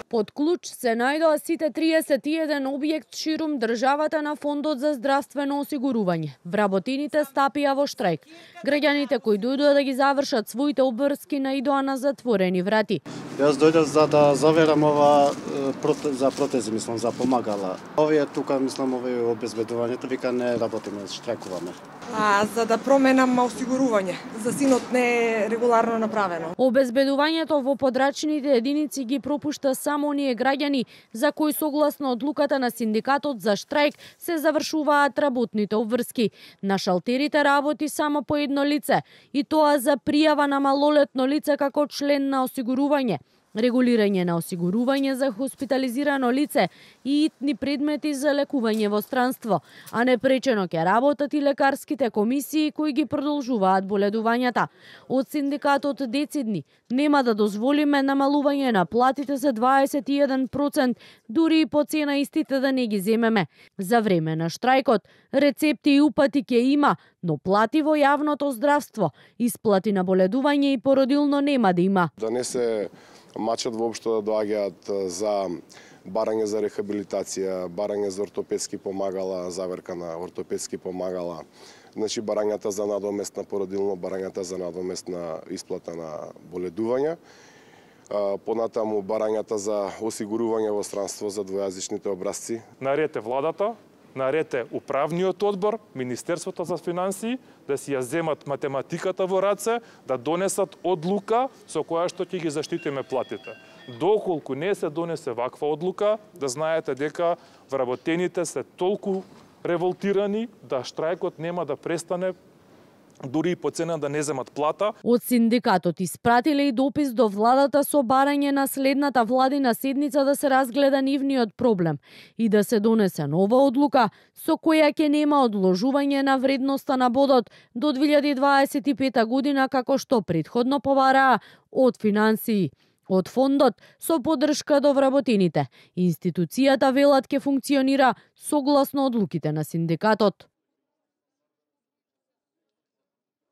Под клуч се најдоа сите 31 објект ширум државата на Фондот за здравствено осигурување. Вработените стапија во штрајк. Граѓаните кои дојдоа да ги завршат своите обврски наидоа на затворени врати. Јас дојдов за да заверам ова за протези, мислам, за помагала. Овие тука, мислам, овие обезбедувањето, вика не работиме, штрајкуваме. За да променам осигурување. За синот не е регуларно направено. Обезбедувањето во подрачните единици ги пропушта само оние граѓани за кои согласно одлуката на синдикатот за штрајк се завршуваат работните обврски. На шалтерите работи само по едно лице, и тоа за пријава на малолетно лице како член на осигурување, регулирање на осигурување за хоспитализирано лице и итни предмети за лекување во странство, а непречено ќе работат и лекарските комисии кои ги продолжуваат боледувањата. Од синдикатот децидни нема да дозволиме намалување на платите за 21%, дури и по цена истите да не ги земеме. За време на штрајкот рецепти и упати ќе има, но плати во јавното здравство, исплати на боледување и породилно нема да има. Да не се мачат воопшто да доаѓаат за барање за рехабилитација, барање за ортопедски помагала, заверка на ортопедски помагала, значи барањата за надоместна породилно, барањата за надоместна исплата на боледување, понатаму барањата за осигурување во странство за двојазичните образци. Наред е владата, наред е управниот одбор, Министерството за финансии, да си ја земат математиката во раце, да донесат одлука со која што ќе ги заштитиме платите. Доколку не се донесе ваква одлука, да знаете дека вработените се толку револтирани да штрајкот нема да престане, дури и по цена да не земат плата. Од синдикатот испратиле и допис до владата со барање на следната владина седница да се разгледа нивниот проблем и да се донесе нова одлука со која ќе нема одложување на вредноста на бодот до 2025 година, како што претходно побараа од финансии. Од фондот со поддршка до вработените. Институцијата велат ќе функционира согласно одлуките на синдикатот.